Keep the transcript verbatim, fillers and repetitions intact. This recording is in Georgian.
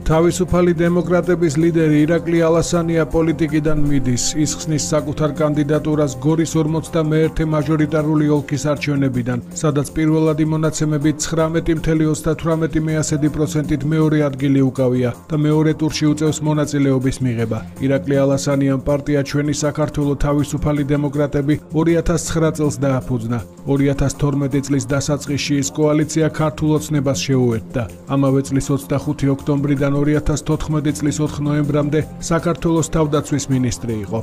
თავისუფალი დემოკრატების ლიდერი ირაკლი ალასანია პოლიტიკიდან მიდის. ის ხსნის საკუთარ კანდიდატურას გორის ორმოცდამეერთე მაჟორიტარული ოლქის არჩევნებიდან, სადაც პირველადი მონაცემებით ცხრამეტი წამსვლელი ოცდათვრამეტი პროცენტით მეორე ადგილი უკავია და მეორე ტურში უწევს მონაწილეობის მიღება. ირაკლი ალასანიამ პარტია ჩვენი საქართველო თავისუფალი დემოკრატები ორი ათას ცხრა წელს დააფუძნა. ორი ათას თორმეტი წლის დასაწყისში ის კოალიცია ქართულ ოცნებას შეუერთდა. ამავე წლის ოცდახუთი ოქტომბრიდან ორი ათას თოთხმეტი წლის ოთხ ნოემბრამდე საქართველოს თავდაცვის მინისტრი იყო.